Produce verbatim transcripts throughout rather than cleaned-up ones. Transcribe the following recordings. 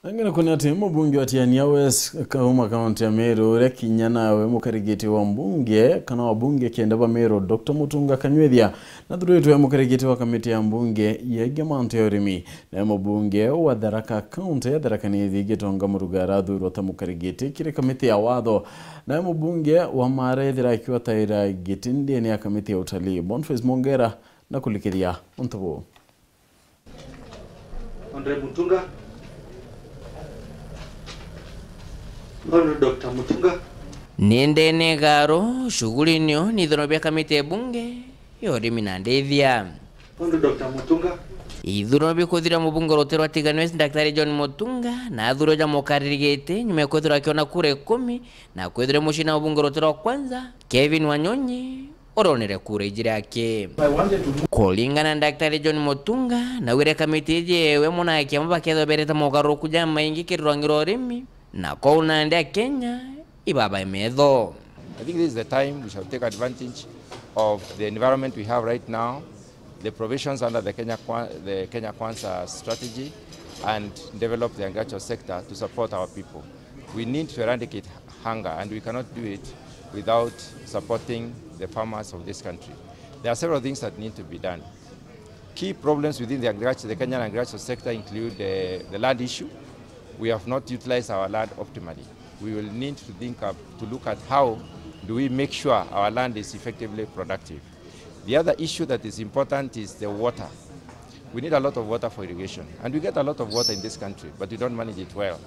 Angina kuni ati mubunge wa Tiania West kauma kaunti ya Meru, uria kinya nawe mukarigiti wa mbunge kana wa bunge kenda ba Meru, Doctor Mutunga Kanywithia, nathuritwe mukarigiti wa kamiti ya mbunge yegie mantu ya urimi. Nawe mubunge wa Tharaka, kaunti ya Tharaka Nithi, Gitonga Muruga arathurwa ta mukarigiti kiri kamiti ya watho. Nawe mubunge wa Mara ethira akiwa taira giti ndene ya kamiti ya utalii, Boniface Mongera, na kulikithia untu buu. Honorable Mutunga. Honorable Doctor Mutunga. Ni ndene garo, shughuli nio ni ithuno bia kamiti ya bunge ya urimi na ndithia. Honorable Doctor Mutunga. Ithuno bikuthira mubunge rutere rwa Tigania West, Daktari John Mutunga, na athurwa ja mukarigiti nyuma ya kwithirwa akiona kura ikumi, na kwithirwa mucii na mubunge rutere rwa kwanza, Kevin Wanyonyi, uronere kura ijiri aki. Kuringana na Daktari John Mutunga, naugire kamiti iji ewe muna kiama bakethwa berete mogaruruku jamaingi kiri rwangi rwa urimi, na kwou nandi Akenya ibabae metho. I think this is the time we shall take advantage of the environment we have right now, the provisions under the Kenya Kwa-, the Kenya Kwanza strategy, and develop the agricultural sector to support our people. We need to eradicate hunger, and we cannot do it without supporting the farmers of this country. There are several things that need to be done. Key problems within the agriculture, the Kenyan agricultural sector include, uh, the land issue. We have not utilized our land optimally. We will need to think up, to look at how do we make sure our land is effectively productive. The other issue that is important is the water. We need a lot of water for irrigation, and we get a lot of water in this country, but we don't manage it well.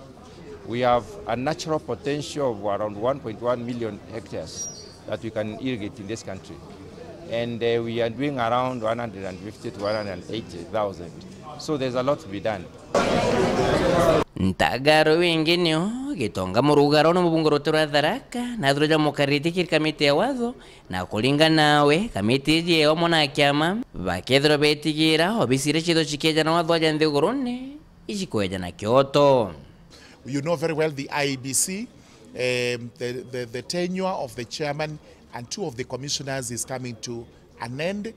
We have a natural potential of around one point one million hectares that we can irrigate in this country, and, uh, we are doing around one hundred and fifty to one hundred and eighty thousand. So there's a lot to be done. Ntagaro wingi nio Gitonga Muruga, uria ni mubunge rutere rwa Tharaka, na athurwa ja mukarigiti kiri kamiti ya watho, na kuringana nawe, kamiti iji ewe muna kiama bakethirwa betigira obisi iria ciithirwa cikieja na watho ja nthigurune iji kweja na kioto. You know very well the I E B C, um, the, the, the tenure of the chairman and two of the commissioners is coming to an end.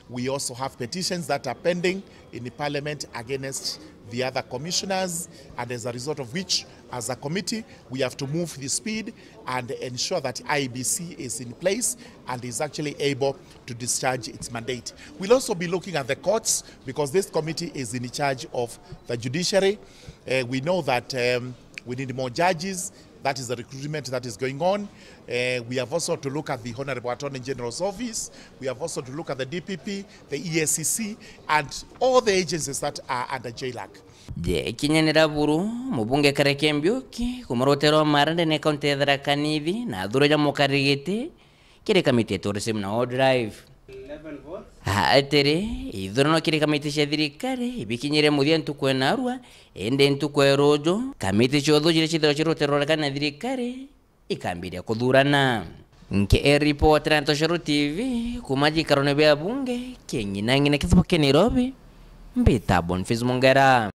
We also have petitions that are pending in the parliament against the other commissioners, and as a result of which, as a committee, we have to move the speed and ensure that I E B C is in place and is actually able to discharge its mandate. We'll also be looking at the courts because this committee is in charge of the judiciary. Uh, we know that, um, we need more judges. That is the recruitment that is going on. Uh, we have also to look at the Honorable Attorney General's office. We have also to look at the D P P, the E A C C, and all the agencies that are under JLAC. Je kinya ni Raburu, mubunge Kareke Mbiuki, kuma rutere rwa Mara ndene kaunti ya Tharaka Nithi, na athurwa ja mukarigiti kiri kamiti ya tourism na wildlife. Atiri, ithurano kiri kamiti cia thirikari ibikinyire muthia ntuku ya narua, indi ntuku ya ruju, kamiti cia uthuji iria ciithirwa cirutirwe na thirikari ikambiria kuthurana. Nkiripotera Ntoshoro T V kuma gikarone bia bunge kia ng'ina ng'ina kithuba kia Nairobi, mbita Boniface Mongera.